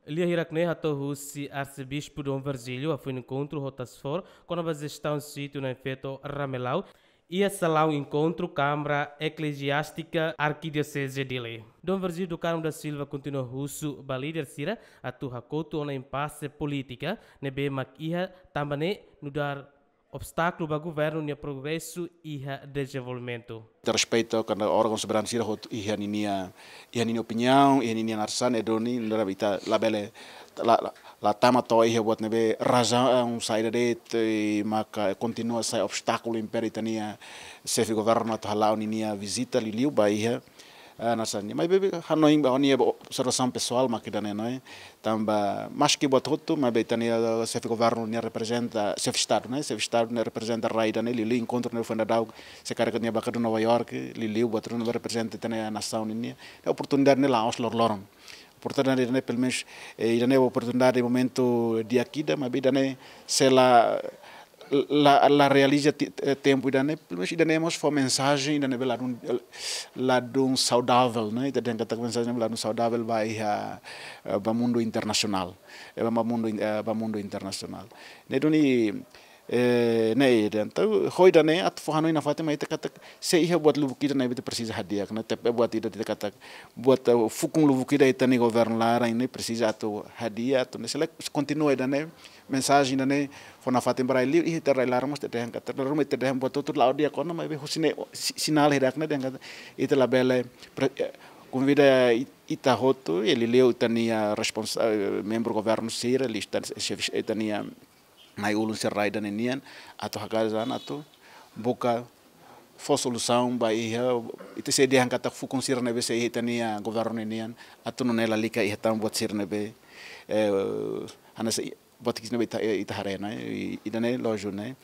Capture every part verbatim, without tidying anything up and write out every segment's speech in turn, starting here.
Lia hirak-ne'e hato'o husi Arsebispu Dom Virgílio hafoin enkontru ho task force kona-ba jestaun sítiu Na'in Feto Ramelau iha salaun enkontru Câmara Eclesiástica Arquidiocese Dili. Dom Virgílio Carmo da Silva kontinua husu ba líder sira atu hakotu ona impase polítika ne'ebé mak iha tanba ne'e nu'udar obstákulu ba governu nia progresu iha dezenvolvimentu. Ita respeita kada órgaun soberanu sira hotu iha ninia, iha ninia opiniaun, iha ninia naran sira-ne'e duni, nu'udar ita labele, la, la, la tama to'o iha buat ne'ebé razaun saida de'it, eh, maka kontinua sai obstákulu impede ita-nia xefe governu atu hala'o ninia vizita liuliu ba iha, eh, naran sira-nian. Maibé ha'u hanoin ba ha'u-nia observasaun pesoál mak ida-ne'e, não é? Tanba maski buat hotu, maibé ita-nia xefe governu nia reprezenta, xefe estadu, não é? Xefe estadu nia reprezenta rai ida-ne'e, liuliu enkontru ne'ebé foin daudauk, se karik nia ba kadun Nova York, liuliu buat ruma reprezenta ita-nia nasaun nian. Oportunidade ne'e la'ós loroloron. Oportunidade ne'e, pelumenus, eh, ida-ne'e oportunidade momentu di'ak ida, maibé ida-ne'e se la, la, la realiza ti-, eh, tempu ida-ne'e, pelumenus ida-ne'e mós fó mensajen ida ne'ebé ladún, ladún saudavel, não é? Ita dehan katak mensajen ladún saudavel ba iha, eh, ba mundu internasionál. Eh, ba mundu in-, eh, ba mundu internasionál. Ne'e duni, eh, ne'e ida. Entaun, ho ida-ne'e, atu fó hanoin nafatin mai ita katak, se iha buat lubuk ida ne'ebé ita presiza hadi'a, ne'e, tanba buat ida ita katak, buat, eh, fukun lubuk ida ita-nia governu laran ne'e presiza atu hadi'a, atu ne'e se la kontinua ida-ne'e, mensajen ida-ne'e fó nafatin ba rai li'ur, iha ita rai laran mós ita dehan katak, rai laran mós ita dehan buat hotu la'o di'ak ona, maibé husi ne'e, si-, sinál hirak-ne'e dehan katak, ita labele, pre-, eh, konvida it-, ita hotu, eh, liuliu ita-nia responsa-, eh, membru governu sira, liuliu ita-nia xefe, ita-nia na'i-ulun sira rai ida-ne'e nian, atu hakarak atu buka fó solusaun ba iha, ita sei dehan katak fukun sira ne'ebé sei iha ita-nia governu nian, atu nune'e lalika iha tan buat sira ne'ebé, eh, hanesan buat ki'ik ne'ebé ita, ita haree, não é? I, ida-ne'e lójiku, não é?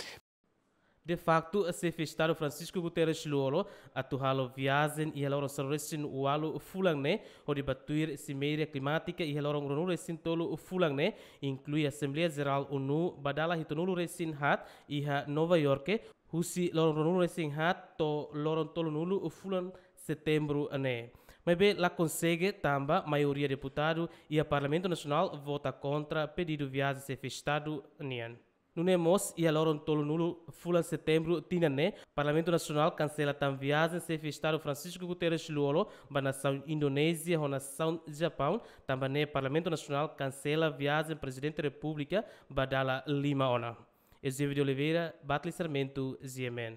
De facto, xefe estadu Francisco Guterres Lú-Olo atu halo viajen iha loron sanulu-resin-ualu fulan ne'e, hodi ba tuir simeira klimátika iha loron ruanulu-resin-tolu fulan ne'e, inklui Asembleia Jerál ONU ba dala hitunulu-resin-haat iha Nova Iorke, husi loron ruanulu-resin-haat to'o loron tolunulu fulan Setembru ne'e. Maibé la konsege tanba maioria deputadu iha Parlamentu Nasionál vota kontra pedidu viajen xefe estadu nian. Nune'e mós, iha loron tolunulu fulan Setembru tinan ne'e, Parlamentu Nasionál kansela tan viajen xefe estadu Francisco Guterres Lú-Olo ba nasaun Indonézia ho nasaun Japaun, tanba ne'e Parlamentu Nasionál kansela viajen Prezidente Repúblika ba dala lima ona. Eusébio de Oliveira, Batli Sarmento, G M N.